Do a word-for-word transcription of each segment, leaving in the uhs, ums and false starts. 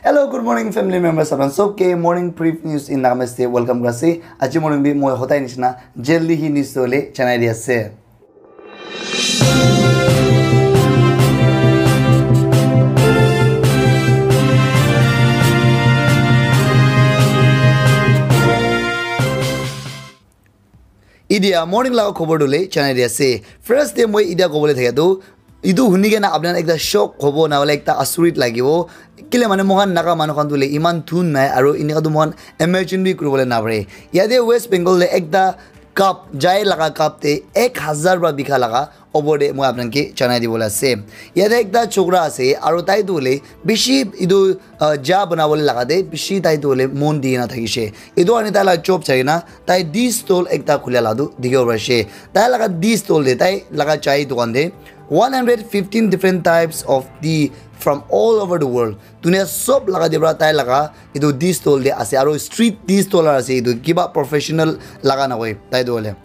Hello, good morning, family members. Apnan sob ke morning brief news in Nagamese te welcome kuri ase. Aji morning bi moi hodai nishina jaldi hi news tole janai di ase. Idia morning laga khobor tu le janai di ase. First te moi idia kobole thakia tu, itu huni kena apnan ekta shock hobo na hoile ekta asurit lagibo. Kile mane moikhan Naga manu khan tu le iman thun nai aru inika tu moikhan imagine bi kuribole napare. Yate West Bengal le ekta cup, jai laga cup te ek hazar pra bika laga opor te moi apnan ke janai dibole ase. Yate ekta chokra ase aru tai tu hoile bishi itu, ah, ja banabole laga te bishi tai tu hoile mon di na thakishe. Itu ani tai la job chai na tai tea stall ekta khula la tu dikhibo parishe. Tai laga tea stall te, tai laga chai dukan te one hundred fifteen different types of tea from all over the world. Dunia sob laga te pra tai laga itu tea stall te ase aru street tea stall ase itu kiba professional laga na hoi tai tu hoile.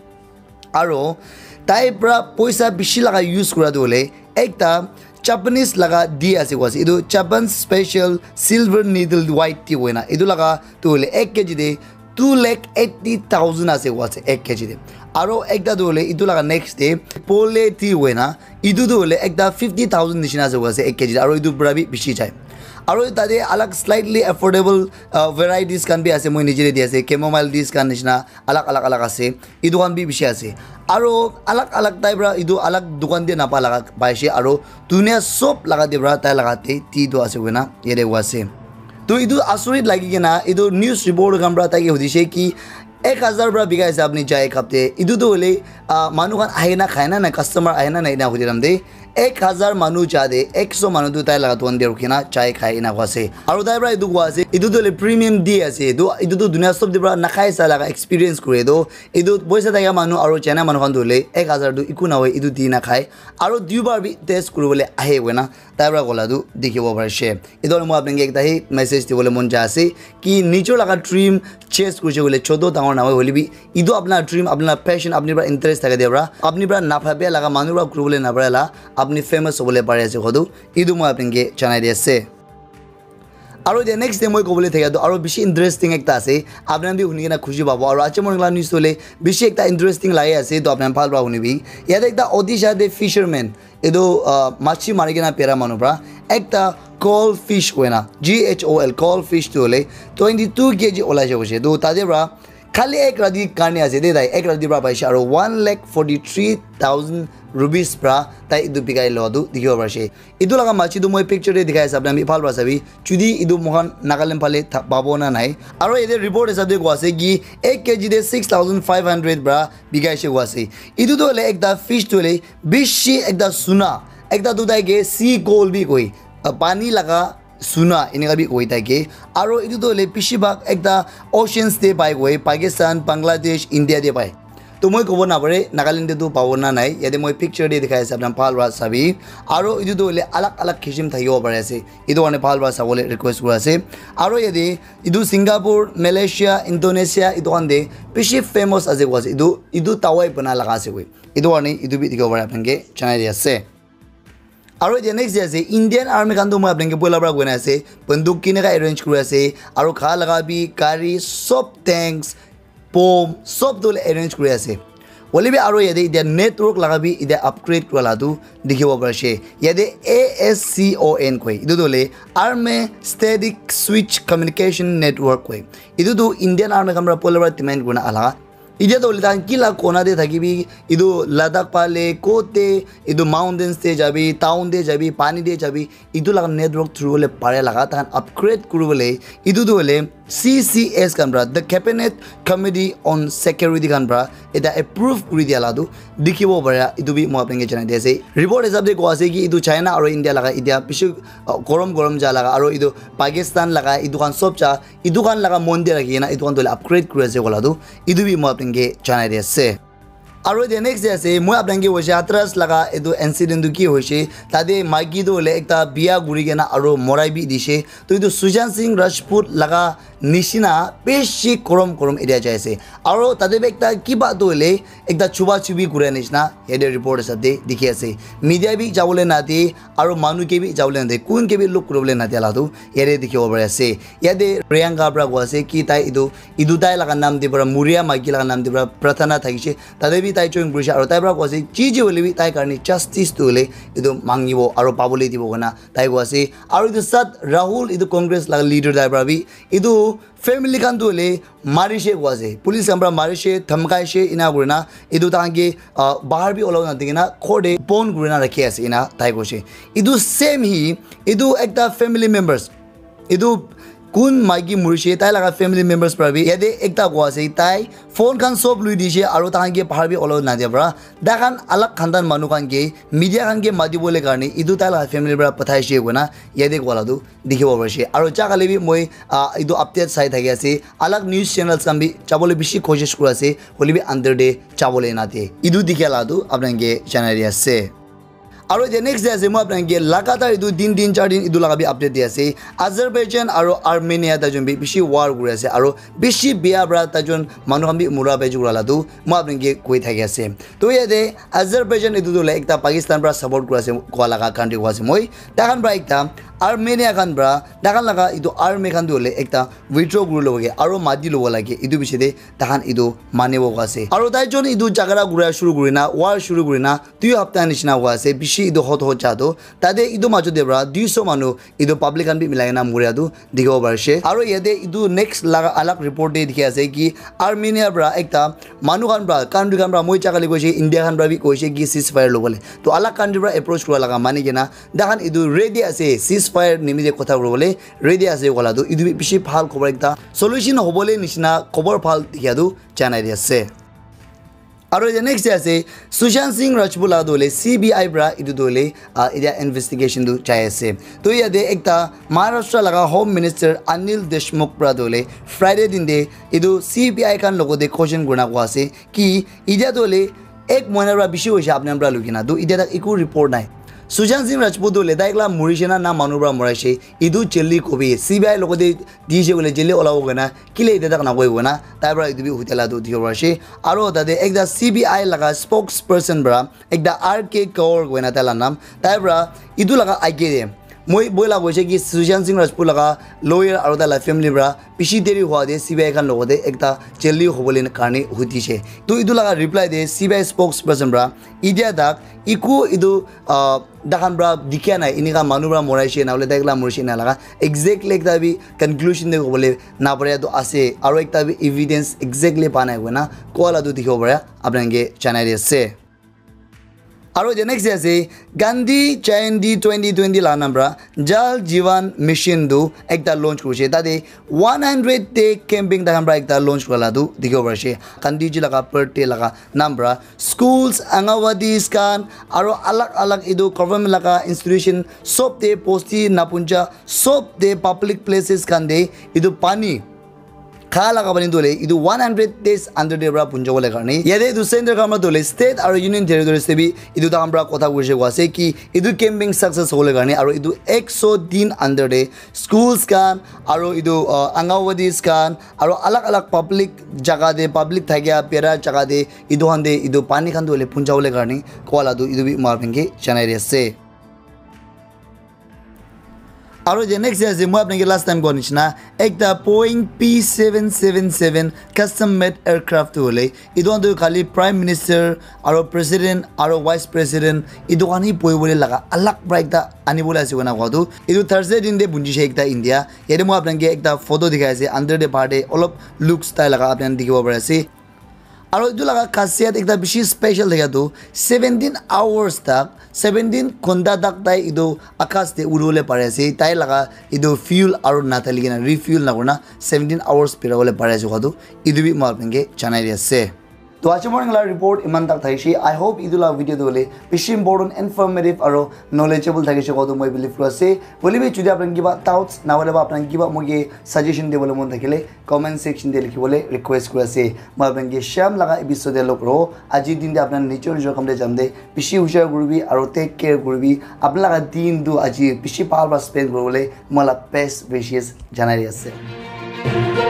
Aro tai pra poisa bishi laga use kura tu hoile ekta Japanese laga tea ase koa ase. Itu Japan special silver needle white tea hoina. Itu laga tu hoile ek K G te two lakh eighty thousand ase koa ase ek K G te. Aro ekta tu hoile itu laga next te pole tea hoina. Itu tu hoile ekta fifty thousand nishina ase koa ase ek K G te. Aro itu pra bi bishi jai. Aro tate alag slightly affordable, uh, varieties khan bi ase. Moi nije te di ase. Chamomile teas khan nishina alag alag alag ase. Itu khan bi bishi ase. Aro alag alag type ra itu alag dukan te napa laga paishe aro dunia sob laga te pra tai laga te tea tu ase koina yate koa ase. To itu asurit lagi kena itu news report khan pra tai ke hudishe ki ek hazar pra bikai ase apni chai cup te. Itu tu hoile, ah, manu khan ahi na khai na na customer ahi na na ina hudi ram de. Ek hazar manu ja de, ekso manu tu tai laga dukan te rukhi na chai khai ina koa ase. Aru tai pra itu koa ase, itu tu hoile premium tea ase. Itu, itu tu dunia sob te pra nakhai sa laga experience kure tu. Itu poisa thakia manu aru China manu khan tu hoile ek hazar tu iku na hoi, itu tea na khai. Aru duibar bi test kuribole ahe koina tai pra kola tu dikhibo parishe. Itu hoile moi apni ke ekta hi message dibole mon ja ase ki nijor laga dream chase kurishe koile choto dangor na hoi hoile bi itu apna dream, apna passion, apni pra interest thaka dia pra, apni pra na bhabia laga manu pra kuribole na para la, apni famous hobole pari ase kodu, itu moi apni ke janai di ase. Aru dia next day moi kobole thakia tu aru bishi interesting ekta ase, apni bi huni kena khushi pabo. Aru aji morning la news hole bishi ekta interesting lagi ase, to apni bhal pra hunibi. Yate ekta Odisha te fisherman, etu, ah, machi mari kena bera manu pra ekta coral fish koina, G H O L, coral fish tu hole twenty two K G olai se koise. Tu tate pra khali ek rati karne ase de tai, ek rati pra paise aro one lakh forty three thousand rupees pra tai etu bikai loa tu dikhibo parise. Etu laga machi tu moi picture te dikhai ase, apni khan bi bhal pra sabi. Jodi etu moikhan Nagaland phale tha-, pabo na nai. Aro yate report hisab te koa ase ki ek K G te six thousand five hundred pra bikai se koa ase. Etu tu hoile ekta fish tu hoile bishi ekta suna, ekta tu tai ke sea coal bi koi, ah, pani laga suna eneka bi koi tai ke. Aro etu tu hoile bishi bhag ekta oceans te pai koi, Pakistan, Bangladesh, India te pai. To moi kobo na pare Nagaland te tu pabo na nai, yate moi picture te dikhai ase, apni khan bhal para sabi. Aro etu tu hoile alag alag kisim thakibo pari ase, etu karne bhal para sabole request kuri ase. Aro yate etu Singapore, Malaysia, Indonesia etu khan te bishi famous ase koa ase, etu, etu dawai bana laga ase koi, etu karne etu bi dikhibo pare apni khan ke janai di ase. Aro etia next te ase, Indian Army khan toh moi apni khan ke poila para koi na ase, banduk kineka arrange kuri ase, aro kha laga bi, gari, sob tanks, bomb, sob toh arrange kuri ase. Hoile bi aro yate etia network laga bi etia upgrade kura la tu dikhibo pari ase. Yate A S C O N koi, etu toh hoile Army Static Switch Communication Network koi. Etu toh Indian Army khan para poila para demand kuri na aha. Etia toh hoile tahan kila kona te thakibi, etu Ladakh phale, kote, etu mountains te jabi, town te jabi, pani te jabi, etu laga network through hole pare laga tahan upgrade kuribole, etu toh hoile C C S khan para, the Cabinet Committee on Security khan para eta approve kuri dia la tu dikhibo pare, etu bi moi apni ke janai di ase. Report hisab te koa ase ki etu China aro India laga etia bishi, uh, gorom gorom ja laga aro etu Pakistan laga etu khan sob ja etu khan laga mon te rakhi kena etu khan toh hoile upgrade kuri ase koa la tu, etu bi moi apni ke janai di ase. Aro the next day ase, moi apnange hoise Hathras laga etu incident tu ki hoise, tate maiki tu hoile ekta biya guri kena aro morai bi dise. To etu Sushant Singh Rajput laga nishina bishi korom korom area jai ase. Aro tate bi ekta kiba tu hoile ekta chuba chubi kura nishina yate report hisab te dikhi ase. Media bi jabole nade aro manu ke bi jabole nade, kun ke bi look kuribole nade la tu yate dikhibo pari ase. Yate Priyanka pra koi ase ki tai etu, etu tai laga nam te pra, muria maiki laga nam te pra prathana thakise. Tate bi tai join kurise aro tai pra koi ase, ji ji hoile bi tai karne justice tu hoile etu mangibo aro pabole dibo koina tai koi ase. Aro etu sat Rahul, etu Congress laga leader, tai pra bi etu family khan tu hoile marise koi ase. Police khan pra marise, dhamkaise, ena kurina etu tahan ke, ah, bahar bi olabo nadikena ghor te bon kurina rakhi ase, ena tai koise. Etu same hi, etu ekta family members, etu kun maiki murise, tai laga family members pra bi yate ekta koi ase, tai phone khan sob lui dise aro tahan ke bahar bi olabo nadia pra, tai khan alag khandan manu khan ke, media khan ke mati bole karne etu tai laga family pra pathaise koina yate koa la tu dikhibo parise. Aro ja kali bi moi, ah, etu update sai thaki ase, alag news channels khan bi jabole bishi koshish kuri ase, hoile bi under te jabole nade. Etu dikha la tu apnange janai di ase. Aro the next day ase, moi apnange lagatar etu tin din char din etu laga bi update di ase. Azerbaijan aro Armenia tai jon bi bishi war kuri ase, aro bishi biya pra tai jon manu khan bi mura pai jukura la tu moi apnange koi thaki ase. To yate Azerbaijan etu tu hoile ekta Pakistan pra support kuri ase koi laga country koi ase moi. Tai khan pra ekta Armenia khan pra, tai khan laga etu army khan tu hoile ekta withdraw kuri lobo ke aro mati lobo lage, etu bishi te tai khan etu manibo koi ase. Aro tai jon etu jhagara kura shuru kurina, war shuru kurina, dui hapta nishina hua ase, bishi etu hot hot ja tu. Tate etu majo te pra dui so manu etu public khan bi milai kena muria tu dikhibo parise. Aro yate etu next laga alag report te dikhi ase ki Armenia pra ekta manu khan pra, country khan pra, moi ja kali koise, India khan pra bi koise ki ceasefire lobole. To alag country pra approach kura laga mani kena, tai khan etu ready ase, ceasefire nimite kotha kuribole ready ase koa la tu. Etu bi bishi bhal khobor ekta, solution hobole nishina khobor bhal dikhia tu janai di ase. Aro the next day ase, Sushant Singh Rajput la tu hoile C B I pra etu tu hoile, ah, etia investigation tu jai ase. To yate ekta Maharashtra laga Home Minister Anil Deshmukh pra tu hoile Friday din te etu C B I khan logote question kurina koi ase ki etia tu hoile ek mohina pra bishi hoise apni khan pra lukina, to etia tak eku report nai. Sushant Singh Rajput tu hoile tai ekla murise na, na manu pra moraise, etu jail te kobi, C B I logote dise koile jail te olabo koina, kile etia tak nakoi koina, tai pra etu bi hutela tu dikhibo parise. Aro tate ekta C B I laga spokesperson pra, ekta R K Kaur koina tai la nam, tai pra etu laga age te moi boila koise ki Sushant Singh Rajput laga lawyer aro tai la family pra bishi deri hua te C B I khan logote ekta jail te hobole karne hutise. To etu laga reply te C B I spokesperson pra etia tak eku etu, ah, tai khan pra dikhia nai, enika manu pra moraise na hoile tai ekla morise na laga exactly ekta bi conclusion te kobole na pare tu ase, aro ekta bi evidence exactly pa nai koina koa la tu dikhibo pare, apnange janai di ase. Aro the next day ase, Gandhi Jayanti twenty twenty la nam pra Jal Jeevan Mission tu ekta launch kurise. Tate one hundred day campaign tai khan pra ekta launch kura la tu dikhibo parise. Gandhi ji laga birthday laga nam pra schools, Anganwadis khan, aro alag alag etu government laga institution sob te, bosti, napunja sob te, public places khan te etu pani kha laga pani tu hoile etu one hundred days under te pra punja bole karne, yate etu center khan pra tu hoile state aro union territories te bi etu tai khan pra kotha kurise koi ase ki etu campaign success hobole karne, aro etu ek so din under te schools khan aro etu, uh, Anganwadis khan aro alag alag public jaga te, public thakia bera jaga te etu khan te etu pani khan tu hoile punja bole karne koa la tu etu bi moi apnange janai di ase. Aro the next day ase, moi apnange last time koa nishina ekta Boeing P seven seven seven custom made aircraft tu hoile etu khan tu khali Prime Minister aro President aro Vice President etu khan hi bohi bole laga alag pra ekta ani bole ase koina koa tu. Etu Thursday din te punjise ekta India. Yate moi apnange ekta photo dikhai ase, under te bahar te olop looks tai laga apni khan dikhibo pari ase. Aro etu laga khasiat ekta bishi special thakia tu seventeen hours tak, seventeen ghonta tak tai etu akas te uri bole pari ase. Tai laga etu fuel aro nadali kena, refuel nakurina seventeen hours bera bole pari ase koa tu etu bi moi apnange janai di ase. To aji morning la report iman tak thakishe. I hope etu la video tu hoile bishi important, informative aro knowledgeable thakishe kowa tu moi believe kuri ase. Hoile bi jodi apni khan kiba doubts na hoile ba apni khan kiba moike suggestion dibole mon thakile comment section te likhi bole request kuri ase. Moi apni khan ke sham laga episode te log kuro. Aji din te apni khan nijor nijor kam te jam de bishi hushar kuribi aro take care kuribi. Apni laga din tu aji bishi bhal para spend kuribole moi la best wishes janai di ase.